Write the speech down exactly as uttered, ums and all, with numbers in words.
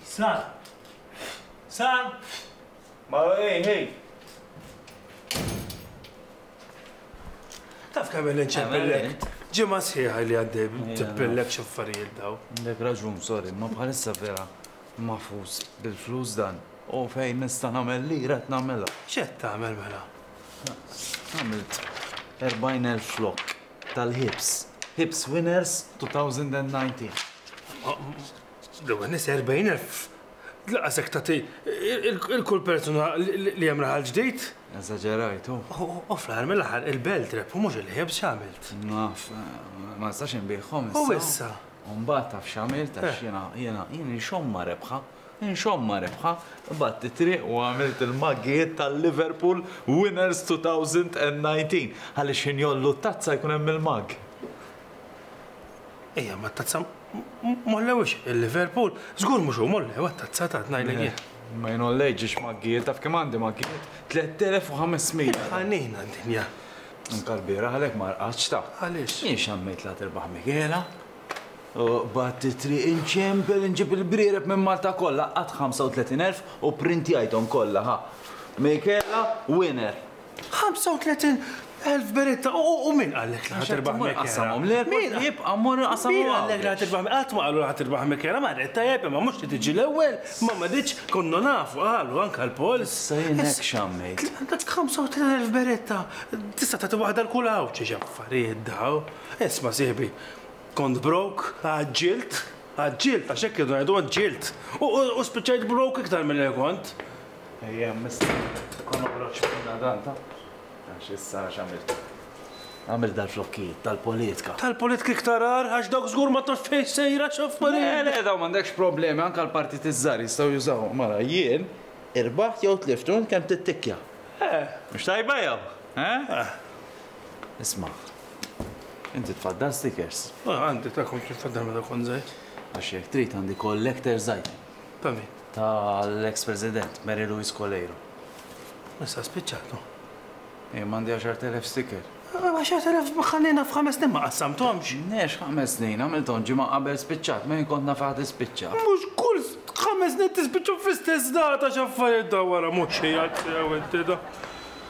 San! San! Ma ej, ej! Taf kemm inċempillek? Ġimgħa sħiħa li għaddej ċempillek x'affarijiet daw. Għandek raġun, sorry, ma bħalissa vera mafus bil-flus dan. U fejn nista' nagħmel lira qed nagħmilha. X'qed tagħmel mela? Għamilt erbgħin elf flok tal-Hibs. Hibs Winners twenty nineteen. L-ewwel nies erbgħin elf. Laqasek tagħti il-kull persuna li hemm raħal ġdid. Eżaġerajt, u. U fl-aħħar mill-aħħar il-belt rep u mhux il-Hibs x'għamilt. Naf, ma nistax inbiegħhom issa. U issa. U mbagħad taf x'għamilt għax jiena jiena jien inxomma rebħa. Inxomma rebħa, bat it-triq u għamilt il-maggijiet tal-Liverpool Winners twenty nineteen. Għaliex ħin jollu t-tazza jkun hemm il-mag. Ejja, ma t-tazza mollewix il-Liverpool, żgur mhux hu mollew t-tazza ta' ngħidlek jien. Ma jnollejġix maggijiet, taf kemm għandi maggijiet? tliet elef u ħames mija. Ħanina d-dinja. Anka l-bieraħ għalhekk ma rqadx ta'. Għaliex? Jien xammejt la tirbaħ Michela. U bat it-triq inċempel inġib il-briereb minn Malta kollha qatt ħamsa u tletin elf u printjajthom kollha ħa. Michela winner. ħamsa u tletin elf beretta u min qallek li ħatirbaħ Michela? Qasamhom le, jibqa' mmur qasamhom. Min qallek li ħatirbaħ Michela? Qatt ma qalu li ħatirbaħ Michela, ma rrid tajjeb imma mhux li tiġi l-ewwel, ma ma ditx konna nafu qalu anke l-pols. Issa jien hekk xammejt. Dak ħamsa u tletin elf beretta tista' tagħti waħda l kull hawn xi affarijiet daw. Isma' sieħbi, kont broke, għaġġilt, għaġġilt, għax hekk irdu ngħidu għaġġilt. U spiċċajt broke iktar milli kont. Ejja, mista, kon noħroġ minna dan ta' għax issa x'għamilt. Għamilt dal-flokkijiet tal-politika. Tal-politika iktar agħar, għax dawk żgur ma taf fejn sejra x'affarijiet. Le, le, daw m'għandekx problemi, anke l-partit iż-żgħar jistgħu jużaw. Mela jien irbaħt jew tlift u kemm tittikkja. Eh. Mhux tajba jew? Eh? Eh. Isma'. Inti tfaddal stickers. Ah, għandi ta' kont tfaddal meta kont żgħir. Għax jekk trid għandi collector's item. Ta' min? Tal-ex President Mary Louise Coleiro. Issa spiċċatu. Ej, m'għandi għaxart elef sticker. Għaxart elef ħallina f'ħames snin ma qassamthomx. Nex ħames snin, għamilthom ġimgħa qabel spiċċat, ma jien kont naf għad ispiċċa. Mhux kull ħames snin tispiċċu fl-istess data x'affarijiet da wara mhux xi jgħid sew inti da.